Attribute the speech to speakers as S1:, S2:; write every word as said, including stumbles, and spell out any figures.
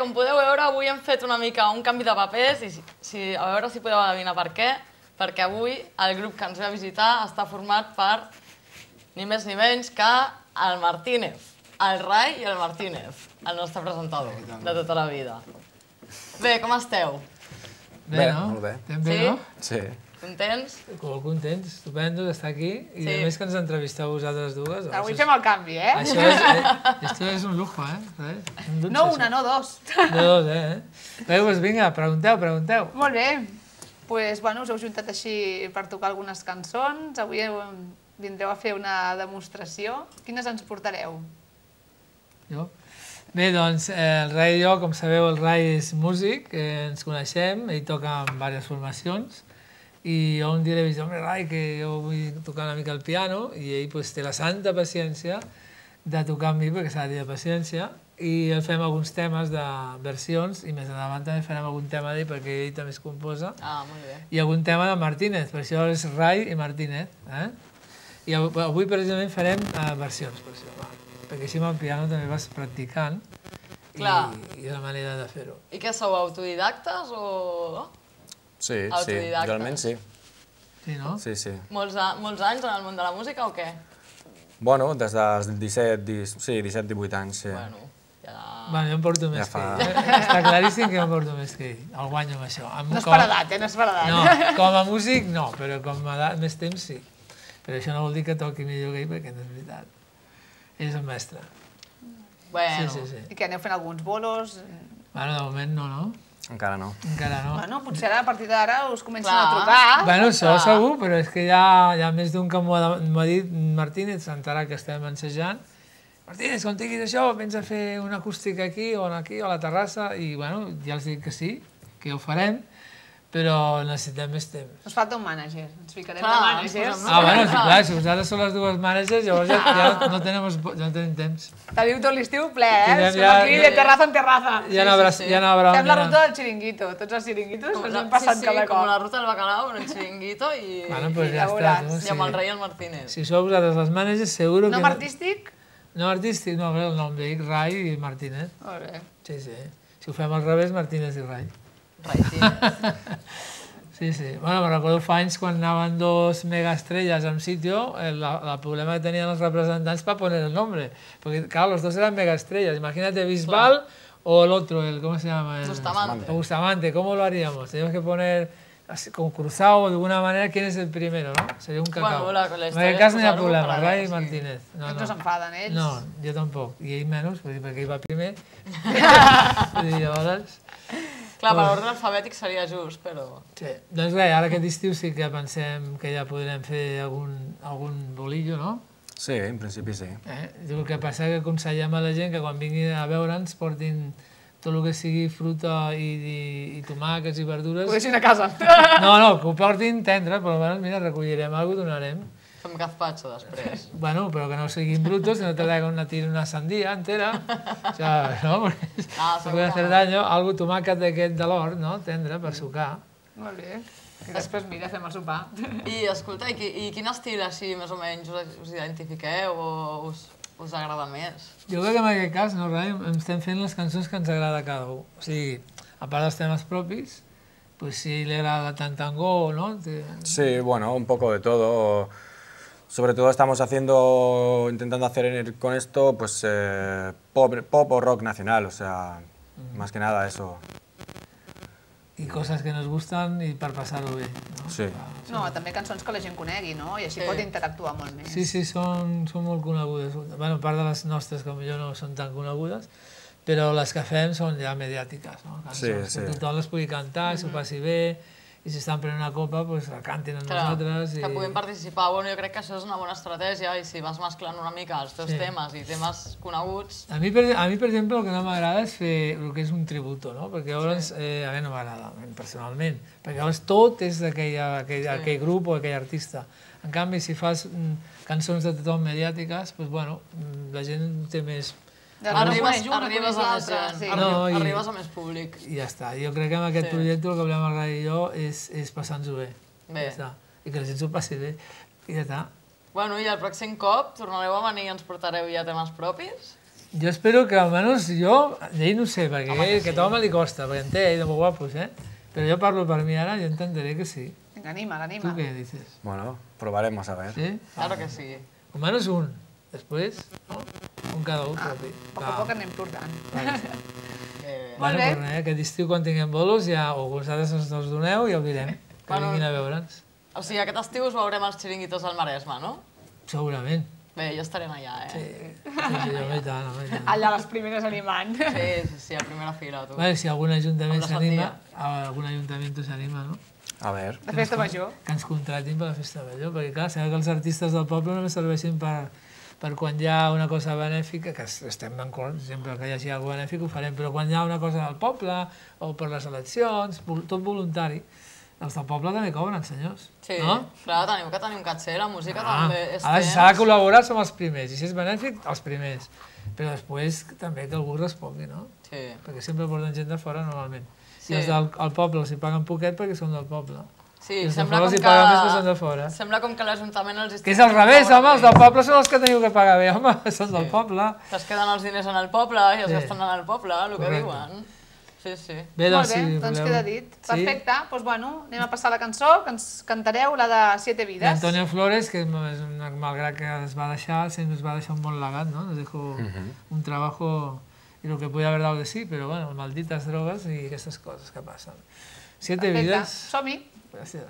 S1: com podeu veure, avui hem fet una mica un canvi de papers i si, a veure si podeu adivinar per què, perquè avui el grup que ens ve a visitar està format per ni més ni menys que el Martínez, el Rai i el Martínez, el nostre presentador de tota la vida. Bé, com esteu?
S2: Bé, no? Molt bé.
S3: Estem bé, no?
S2: Sí.
S1: Contents?
S3: Molt contents, estupendo d'estar aquí i a més que ens entrevisteu vosaltres dues.
S4: Avui fem el canvi, eh?
S3: Això és, esto és un lujo, eh?
S4: No una, no dos.
S3: No dos, eh? Bé, doncs vinga, pregunteu, pregunteu.
S4: Molt bé. Doncs, bueno, us heu juntat així per tocar algunes cançons. Avui vindreu a fer una demostració. Quines ens portareu?
S3: Jo? Bé, doncs, el Rai i jo, com sabeu, el Rai és músic, ens coneixem, ell toca en diverses formacions, i jo un dia li vaig dir, home, Rai, que jo vull tocar una mica el piano, i ell té la santa paciència de tocar amb mi, perquè s'ha de tenir paciència, i fem alguns temes de versions, i més endavant també farem algun tema d'ell, perquè ell també es composa, i algun tema de Martínez, per això és Rai i Martínez. I avui, precisament, farem versions, per això, perquè així amb el piano també vas practicant, i és la manera de fer-ho.
S1: I què sou, autodidactes o...?
S2: Sí, sí, realment sí.
S3: Sí, no?
S2: Sí, sí.
S1: Molts anys en el món de la música o què?
S2: Bueno, des dels disset, divuit anys, sí.
S1: Bueno, ja...
S3: Bueno, jo em porto més que ell. Està claríssim que jo em porto més que ell. El guanyo amb això.
S4: No és per edat, eh? No és per edat.
S3: No, com a músic no, però com a edat més temps sí. Però això no vol dir que toqui millor que ell, perquè no és veritat. Ell és el mestre.
S1: Bueno.
S3: Sí, sí, sí.
S4: I que aneu fent alguns bolos?
S3: Bueno, de moment no, no?
S2: Encara no.
S3: Encara no.
S4: Bueno, potser a partir d'ara us comencen a trucar.
S3: Bueno, això segur, però és que hi ha més d'un que m'ho ha dit Martínez, s'entarà que estem ensejant. Martínez, quan tinguis això, vens a fer una acústica aquí o aquí, a la terrassa, i bueno, ja els dic que sí, que ho farem, però necessitem més temps.
S4: Ens falta un mànager, ens ficarem de mànagers.
S3: Ah, bueno, clar, si vosaltres sou les dues mànagers, llavors ja no tenim temps.
S4: Teniu tot l'estiu ple, eh? Som aquí de terraza en terraza.
S3: Ja n'haurà...
S4: Fem la ruta del xiringuito, tots els xiringuitos ens hem passat cada cop.
S1: Com la ruta del bacalao, en el xiringuito i...
S3: Bueno, doncs ja està.
S1: I amb el Rai i el Martínez.
S3: Si sou vosaltres les mànagers, seguro que...
S4: Nom artístic?
S3: Nom artístic, no, el nom d'ell, Rai i Martínez.
S4: Molt bé.
S3: Sí, sí. Si ho fem al revés, Martínez i Rai. Sí, sí. Bueno, me recordo fa anys quan anaven dos megaestrelles en sitio, el problema que tenien els representants para poner el nombre. Porque, claro, los dos eran megaestrellas. Imagínate Bisbal o el otro, el, ¿cómo se llama?
S1: Bustamante.
S3: Bustamante, ¿cómo lo haríamos? Teníamos que poner con cruzado de alguna manera quién es el primero, ¿no? Sería un cacao. En aquest cas no hi ha problema, Rai i Martínez.
S4: No s'enfaden ells?
S3: No, jo tampoc. I ell menys, perquè ell va primer. Llavors...
S1: Clar, per l'ordre alfabètic seria just, però...
S3: Sí, doncs res, ara aquest estiu sí que pensem que ja podrem fer algun bolillo, no?
S2: Sí, en principi sí.
S3: El que passa és que aconsellem a la gent que quan vinguin a veure'ns portin tot el que sigui fruta i tomàquets i verdures...
S4: Ho deixin a casa.
S3: No, no, que ho portin tendre, però almenys, mira, recollirem alguna cosa, donarem.
S1: Fem gazpacho després.
S3: Bueno, però que no siguin brutos, que no te traigan una tira una sandía entera. O sea, no? Se puede hacer daño. Algo tomàquet d'aquest de l'hort, no? Tendre, per sucar.
S4: Molt bé. I després, mira, fem el sopar.
S1: I, escolta, i quin estil així, més o menys, us identifiqueu o us agrada més?
S3: Jo crec que en aquest cas, no, Rai, estem fent les cançons que ens agrada a cada un. O sigui, a part dels temes propis, pues si le agrada tant tango, ¿no?
S2: Sí, bueno, un poco de todo. Sobre todo estamos haciendo, intentando hacer con esto, pues, eh, pop, pop o rock nacional, o sea, mm. más que nada eso.
S3: I coses que nos gustan i per passar-ho bé, no?
S2: Sí.
S4: No, també cançons que la gent conegui, no? I així pot interactuar molt més.
S3: Sí, sí, són molt conegudes. Bueno, a part de les nostres, que potser no són tan conegudes, però les que fem són ja mediàtiques, no? Cançons que tothom les pugui cantar, s'ho passi bé, i si estan prenent una copa, doncs la cantin amb nosaltres.
S1: Que puguin participar. Bueno, jo crec que això és una bona estratègia i si vas mesclant una mica els teus temes i temes coneguts...
S3: A mi, per exemple, el que no m'agrada és fer el que és un tributo, no? Perquè llavors, a mi no m'agrada, personalment, perquè llavors tot és d'aquell grup o d'aquell artista. En canvi, si fas cançons de tothom mediàtiques, doncs, bueno, la gent té més...
S1: Arribes a més públic.
S3: I ja està. Jo crec que amb aquest projecte el que volem el Rai i jo és passar-nos-ho bé.
S1: Bé.
S3: I que la gent s'ho passi bé. I ja està.
S1: Bueno, i el pròxim cop tornareu a venir i ens portareu ja temes propis?
S3: Jo espero que almenys jo, d'ell no sé, perquè
S1: Home, que
S3: a aquest
S1: sí.
S3: home li costa, perquè en té ell de molt guapos, eh? Però jo parlo per mi ara i entenderé que sí.
S4: Vinga, anima,
S3: Tu
S4: l'anima.
S3: què dices?
S2: Bueno, probaremos a ver.
S3: Sí?
S1: Claro que sí.
S3: Almenys un. Després, no? Un cada un, propi.
S4: A poc a poc anem portant.
S1: Eh,
S4: Molt
S3: Bueno,
S4: bé.
S3: però res, aquest estiu quan tinguem bolos ja, o vosaltres ens els doneu i ja ho direm, que
S1: Bueno.
S3: vinguin a veure'ns.
S1: o sigui, aquest estiu us veurem als xiringuitos del Maresme, no?
S3: Segurament.
S1: Bé, jo estaré allà, eh?
S3: Sí, sí, home, i tant, home, i tant.
S4: Allà les primeres animant.
S1: Sí, sí, sí, a primera fila, tu.
S3: Vale, si algun ajuntament
S1: Amb la
S3: s'anima, algun ajuntament s'anima, no?
S2: A ver.
S4: De festa major.
S3: Que ens contratin per la festa major, perquè clar, sabeu que els artistes del poble només serveixin per, per quan hi ha una cosa benèfica, que estem d'acord, sempre que hi hagi alguna cosa benèfica ho farem, però quan hi ha una cosa del poble, o per les eleccions, vol- tot voluntari, els del poble també cobren, senyors.
S1: Sí,
S3: no?
S1: clar, teniu que tenir un caché, la música
S3: Ah,
S1: també és
S3: ara si
S1: temps.
S3: s'ha de col·laborar som els primers, i si és benèfic, els primers. Però després també que algú respongui, no?
S1: Sí.
S3: Perquè sempre porten gent de fora normalment.
S1: Sí.
S3: I els del el poble els hi paguen poquet perquè són del poble.
S1: Sí,
S3: I els de
S1: sembla
S3: fora
S1: com
S3: els hi
S1: que...
S3: paguen més perquè són de fora.
S1: Sembla com que l'Ajuntament els...
S3: Que és al revés, home, els del poble són els que teniu que pagar bé, home, són del poble.
S1: Es queden els diners en el poble i els
S3: Sí.
S1: gasten en el poble, el que
S3: Correcte.
S1: diuen. Sí, sí.
S3: Bé,
S4: Molt
S3: doncs,
S4: bé,
S3: si
S4: doncs
S3: voleu.
S4: queda dit.
S3: Sí?
S4: Perfecte, doncs bueno, anem a passar la cançó, que ens cantareu la de Siete Vides.
S3: D'Antonio Flores, que és una, malgrat que es va deixar, sempre ens va deixar un bon legat, ¿no? Nos dejó un trabajo y lo que podía haber dado de sí, pero bueno, malditas drogas y estas cosas que pasan. Siete
S4: Perfecte,
S3: vidas.
S4: som-hi.
S3: Gràcies.